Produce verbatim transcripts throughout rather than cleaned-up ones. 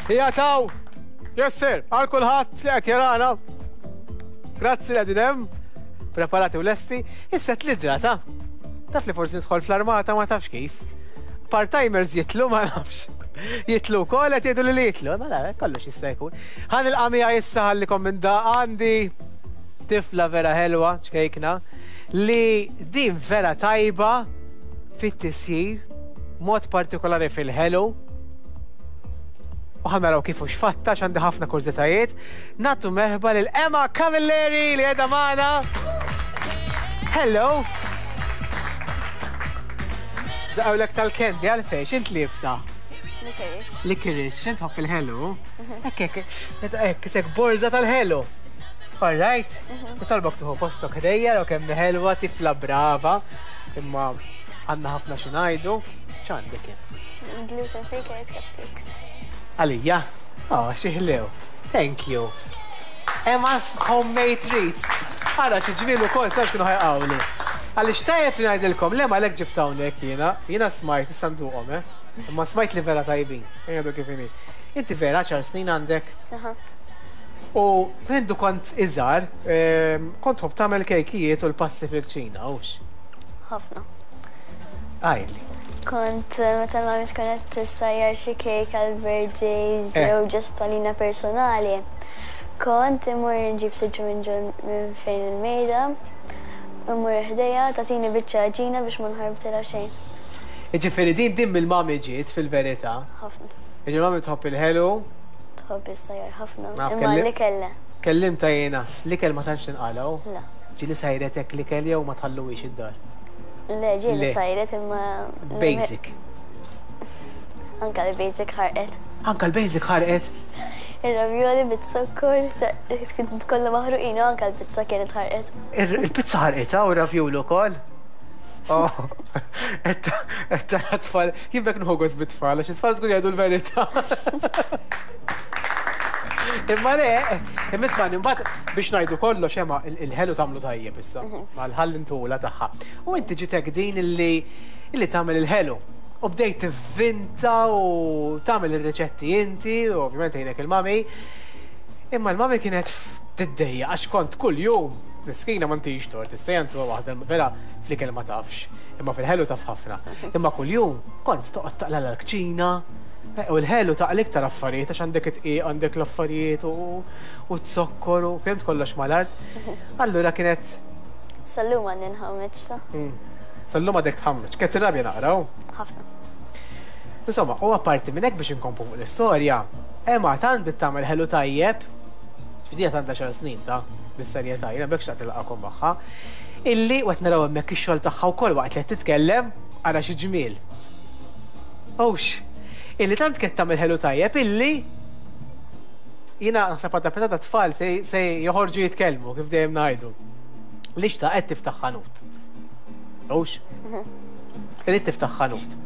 Hija taw! Yes sir, għal kulħadd li qed jarana. Grazzi li qegħdin hemm. Preparati u lesti. Issa tlidra ta' taf li forsi nidħol fl-armata, ma tafx kif. Part-timers jitlu, ma nafx. Jitlu wkoll, qed jgħidu li li jitlu, ma la, kollox jista' jkun. Ħa nilqa' miegħi issa, ħallikom minn da, għandi tifla vera ħelwa, ċkejkna, li din vera tajba fit-tisjir, mod partikolari fil-ħelu. U ħa naraw kif u x'fatta, għandi ħafna kurżitajiet. Nagħtu merħba lil Emma Camilleri li qiegħda magħna. Hello! Daqawlek tal-candy, għalfejn, x'int liebsa? Licorice. Licorice, x'int tħobb il-ħelu? Ekk, ekk, ekk, sek borza tal-ħelu. All right? Talbok tuħu postok ħdejja, u kemm ħelwa, tifla brava, imma għandna ħafna xi ngħidu. X'għandek kif? Gluten free carrot cupcakes. Għalija? Oh, xi ħlew. Thank you. Emma's Homemade Treats. Għara xi ġmielu kol, sarx kienu ħajqawli. Għalix tajjeb li ngħidilkom, le ma lek ġibt hawnhekk jiena, jiena smajt, issa nduqhom, eh? Imma smajt li vera tajbin. Ejja kif inhi. Inti vera għaxar snin għandek. Aha. U mindu kont iżgħar, ehm, kont tħobb tagħmel kejkijiet u l-pasti fil-kċina, hux? Ħafna. Għidli. Kont eh, meta mami tkun qed tissajjar xi cake għal birthdays Eh. jew just għalina personali. Kont imur nġib siġġu minn ġol minn fejn il-mejda, imur ħdejja tagħtini biċċa għaġina biex ma nħarbtilha xejn. Ġifieri din din mill-mami ġiet fil-verità. Ħafna. Ġifieri mami tħobb il-ħelu, Tħobb issajjar ħafna. Naf, Imma kelli- li kelle. Kellimta jiena, l-ikel ma tantx tinqalgħu. La. Ġieli sajretek l-ikel jew ma tħalluwix id-dar? Le, ġieli Le. sajret imma. Basic. Anka li basic ħarqet. Anka l-basic ħarqet. Il-ravioli bit-zokkor, kollha maħruqin, u anka l-pizza kienet ħarqet. Il- Il-pizza ħarqitha u ravioli wkoll. Oh, etta etta tfal, jibbek nħogos bit-tfal, għax it-tfal żgur jgħidu l-verità. Imma le, imma isma' mbagħad biex ngħidu kollox, ema, il-ħelu tagħmlu tajjeb issa, mal-ħall intula tagħha. U inti ġitek din illi illi tagħmel il-ħelu. U bdejt tivvinta u tagħmel ir-riċetti inti, u ovvjament għinek il-mami. Imma l-mami kienet tiddejja għax kont kull jum miskina, ma ntix tort, issa jantu waħda vera fl-ikel ma tafx, imma fil-ħelu taf ħafna. Imma kull jum kont toqgħod taqla l-kċina, eh, u l-ħelu taqla iktar affarijiet għax għandek it għandek l-affarijiet u u t-zokkor u fimt kollox mal-art. Allura kienet Sal-lum għandi nħammeġ ta' mm, Sal-lum għadek tħammeġ, kienet tirrabja naqraw. Ħafna. Insomma, u apparti minn hekk, biex inkompu fuq l-istorja, Emma tant bdiet tagħmel ħelu tajjeb, ġifieri għandha għaxar snin ta' bis-serjetà, jiena bekk xtaqt ilqakom magħha, illi u qed naraw hemmhekk ix-xogħol tagħha wkoll waqt li qed titkellem, ara xi ġmiel. Ux, illi tant kienet tagħmel ħelu tajjeb illi jiena naħseb għadda ta' tfal se se joħorġu jitkellmu, kif dejjem ngħidu. Li xtaqet tiftaħ ħanut. Ux? Irrid tiftaħ ħanut.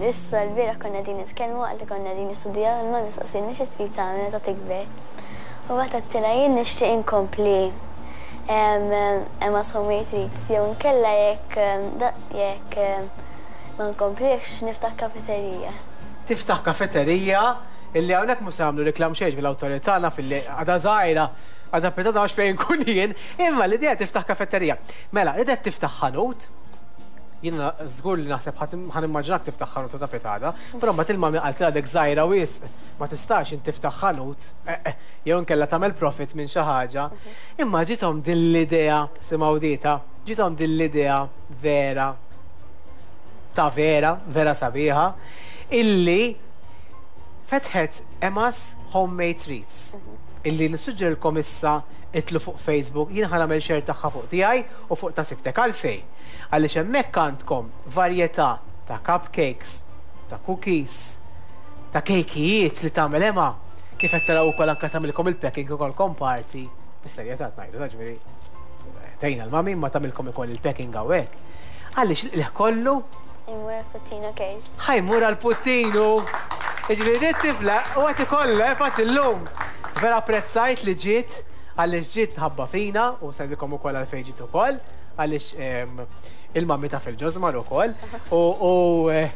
Issa l-bieraħ konna din nitkellmu għal konna din nistudjaw, il-mami saqsini xi trid tagħmel meta tikber. U waqt għedtilha jien nixtieq inkompli Emma's Homemade Treats jew nkella jekk jekk ma nkomplix niftaħ kafeterija. Tiftaħ kafeterija, illi hawnhekk mhux se jagħmlu reklam xejn fil-awtorità, naf illi għadha żgħira, għadha petata għax fejn kun jien, imma l-idea tiftaħ kafeterija. Mela, ridet tiftaħ ħanut, jiena żgur li naħseb ħa nimmaġinak tiftaħ ħanut ta' petada, però mbagħad il-mami qalt għadek żgħira wisq, ma tistax int tiftaħ ħanut, eh, eh, jew inkella tagħmel profit minn xi ħaġa. Imma ġithom din l-idea, simgħu dita, ġithom din l-idea vera ta' vera, vera sabiħa, illi fetħet Emma's Homemade Treats. Illi nissuġġerilkom issa itilgħu fuq Facebook, jien ħa nagħmel share tagħha fuq tiegħi u fuq ta' sibtek. Għalfejn? Għaliex hemmhekk għandkom varjetà ta' cupcakes, ta' cookies, ta' kejkijiet li tagħmel Emma. Kif qed taraw ukoll anke tagħmilkom il-packing ukoll party. Bis-serjetà ngħidu, ta' ġifieri tgħinha l-mami ma tagħmilkom ukoll il-packing hawnhekk. Għaliex il kollu Imur għal-Puttinu Cares. Ħa jmur għal-Puttinu. Ġifieri dit tifla u għati kollha, fatt illum. Vera apprezzajt li ġiet, għaliex ġiet ħabba fina u sendilkom ukoll għalfejn ġiet ukoll, għaliex il-mami ta' fil-ġożmar ukoll. U eh,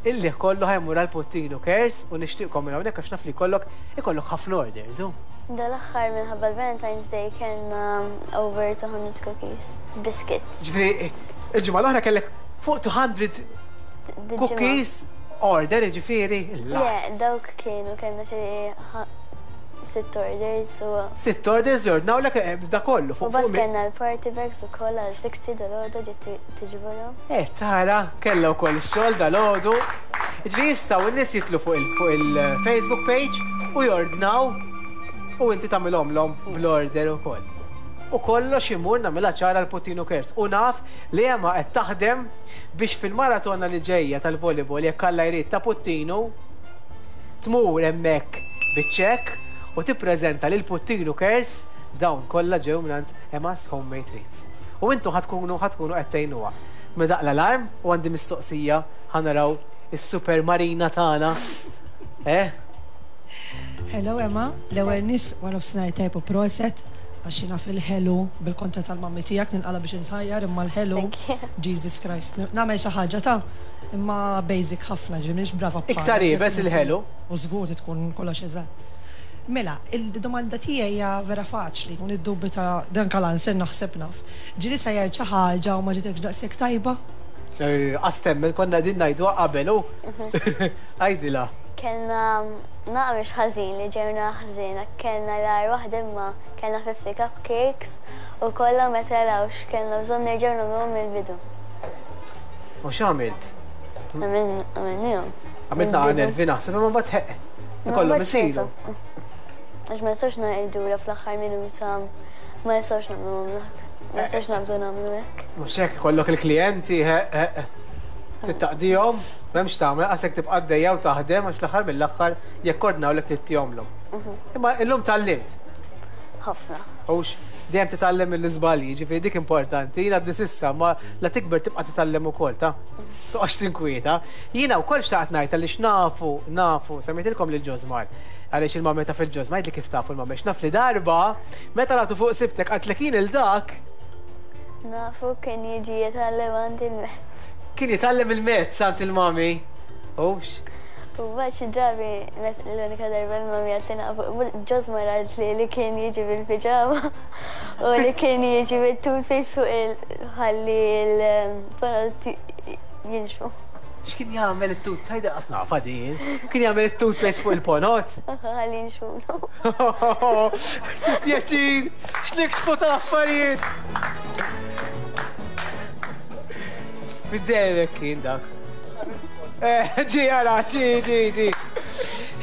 Illi kollu ħa jmur għal Puttinu Cares u nixtieqkom minn hawnhekk għax naf li kollok ikollok ħafna orders. Dal-aħħar minħabba l-Valentine's Day kellna over two hundred cookies, biscuits. Ġifieri, il-ġimgħa l-oħra kellek fuq two hundred cookies order, ġifieri. Le, dawk kienu kellna xi sitt orders u. Sitt orders jordnawlek eh, da kollu U fuq bas fuq. kellna l-party bags u koll għal sittin dalgħodu ġiet tiġborhom. Eh, tara, kella wkoll ix-xogħol dalgħodu. Ġifieri jistgħu n-nies jidħlu fuq il- fuq il-Facebook page u jordnaw u inti tagħmilhomlhom bl-order ukoll. U kollox imur, nagħmilha ċara, l-Puttinu Cares. U naf li Emma qed taħdem biex fil-maratona li ġejja tal-volleyball, jekk Alla jrid, ta' Puttinu, tmur hemmhekk biċ-ċekk u tippreżenta lil Puttinu Cares dawn kollha ġew mingħand Emma's Homemade Treats. U intu ħa tkunu ħa tkunu qed tgħinuha. Daqq l-alarm u għandi mistoqsija, ħa naraw is-Super Marina tagħna. Eh? Hello Emma, l-ewwel nies wara nofsinhar tajb u proset għax jiena fil-ħelu bil-kontra tal-mammi tiegħek ninqala biex nħajjar imma l-ħelu Thank you. Jesus Christ. Nagħmel xi ħaġa ta' imma basic ħafna, ġifieri m'iniex brava bħalek, Iktar iebes definitely. il-ħelu. U żgur tkun kollox eżatt. Mela, il-domanda tiegħi hija vera faċli u niddubita dan kal-answer naħseb naf. Ġieli sajjart xi ħaġa u ma ġietekx daqshekk tajba? Astemmen konna din ngħidu qabel u. Għajdila. Kellna naqra mhux ħażin li ġewna ħażina, kellna l-agħar waħda imma kellna fifty cupcakes u kollha ma telgħux, kellna bżonn nerġgħu nagħmluhom mill-bidu. U x'għamilt? Għamilnihom. Għamilt naqra nervi naħseb imma mbagħad ħeq. Ikollhom isiru. Għax ma nistgħux ngħidula fl-aħħar minuta ma nistgħux nagħmluhom dak. Ma nistgħux nabżu nagħmlu hekk. Mhux hekk, ikollok il-klijenti, ħeq ħeq. Tittaqdihom, m'hemmx tagħmel, qasek tibqa' għaddejja u taħdem għax fl-aħħar mill-aħħar jekk ordnawlek tittihomlhom. Imma illum tgħallimt. Ħafna. Hux dejjem titgħallem mill-iżbalji, ġifieri dik importanti, jiena għadni s'issa, ma la tikber tibqa' titgħallem ukoll ta' toqgħodx tinkwieta. Jiena wkoll xtaqt ngħid għaliex nafu, nafu, semmejtilkom lil Ġosmar. Għaliex il-mami ta' fil-Ġosmar, li kif tafu il-mami, naf li darba meta lagħtu fuq sibtek għatlek jien il-dak Nafu, kien jiġi jitgħallem għand il-mezz. Kien jitgħallem il-mezz għand il-mami. Hux? U mbagħad xi drabi mes l-unika darba l-mami għalt li nafu Ġosmar għalt li li kien jiġi bil-piġama u li kien jiġi bil-toothpaste fuq il-ħalli l-ponot jinxfu. X'kien jagħmel it-tooth? Ħajda qas nafa din. Kien jagħmel it-toothpaste fuq il-ponot. Ħalli jinxfu. Xi pjaċir! X'nikxfu tal-affarijiet! Bid-dejjem kien dak. Eh, ġi għara, ġi, ġi, ġi.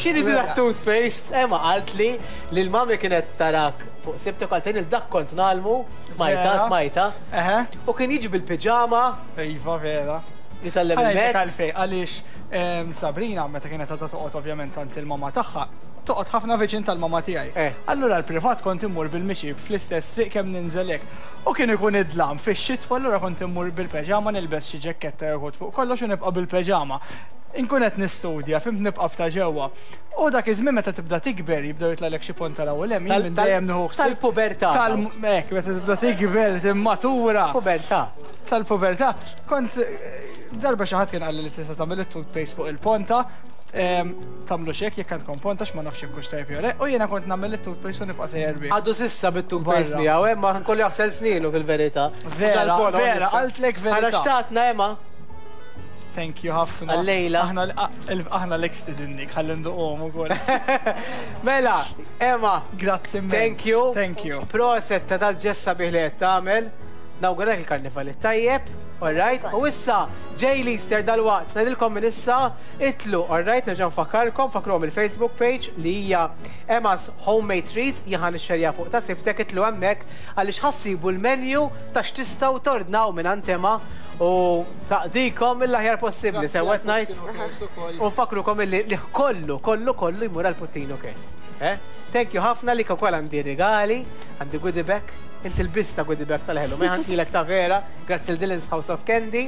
X'inhi din toothpaste? Emma qalt li li l-mami kienet tarak fuq sibtek għaltejn il-dak kont ngħallmu, smajta, Vera. Smajta. Eħe. U kien jiġi bil-piġama, Iva, vera. jitgħallem Ħa ngħidlek il-mezz. għalfej, għaliex em, Sabrina meta kienet għadha toqgħod ovvjament għand il-mama tagħha, toqgħod ħafna viċin tal-mama tiegħi. Eh. Allura l-privat kont immur bil-mixi fl-istess triq kemm ninżelek. U kien ikun id-dlam fix-xitwa, allura kont immur bil-peġama, nilbes xi ġekketta jew fuq kollox u nibqa' bil-peġama. Inkun qed nistudja, fimt, nibqa' f'ta' ġewwa. U dak iż-żmien meta tibda tikber jibdew jitlagħlek xi ponta l-ewwel hemm, jien minn Tal- dejjem nieħu ħsieb- Tal-pubertà. Tal hekk, meta tibda tikber, timmatura Pubertà. Tal-pubertà. Kont eh, darba xi ħadd kien qalli li tista' tagħmel it-toothpaste fuq il-ponta. em, Tagħmlu xek jekk għandkom ponta x'ma nafx jekk hux tajjeb jew le, u jiena kont nagħmel it-toothpaste u nibqa' sejjer bih. Għadu s'issa bit-toothpaste Barra. miegħu, Emma kollu jaħsel sninu fil-verità. Vera, vera, qaltlek verità. Għara xtatna, Emma. Thank you ħafna. Għallejla. Aħna aħna l-ekstidinnik, ħalli nduqhom ukoll. Mela, Emma, Grazzi immens. thank you. Thank you. Proset ta' dal-ġest sabiħ li qed tagħmel. Nawguralek il-karnival it-tajjeb, alright? U issa, ġej l-Easter dal-waqt, ngħidilkom minn issa, itilgħu, alright? Nerġa' nfakkarkom, fakruhom il-Facebook page li hija Emma's Homemade Treats, jien ixxerja fuq ta' sibtek, itilgħu hemmhekk għaliex ħa ssibu l-menu ta' x'tistgħu tordnaw minn Emma u taqdikom mill-aħjar possibbli, sewwa ngħid? U nfakrukom illi li kollu, kollu, kollu jmur għal Puttinu Cares. Eh? Thank you ħafna li wkoll għandi regali, għandi goodie bag, inti l-bista goodie bag tal-ħelu, ma ħantilek ta' vera, grazzi l-Dylan's House of Candy,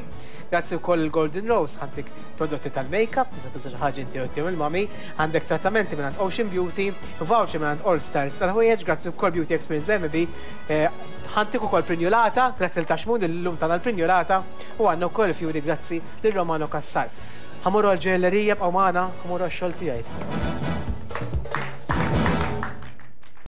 grazzi wkoll il-Golden Rose, ħantik prodotti tal-makeup, tista' tuża xi ħaġa inti u tihom il-mami, għandek trattamenti minn Ocean Beauty, voucher minn All Stars tal-ħwejjeġ, grazzi wkoll Beauty Experience B M B, eh, ħantik ukoll prinjolata, grazzi l-Taxmun illum tagħna l-prinjolata, u għandna wkoll fjuri grazzi lil Romano Cassar. Ħa mmorru għall-ġojjellerija, bqgħu magħna, ħa mmorru għax-xogħol tiegħi.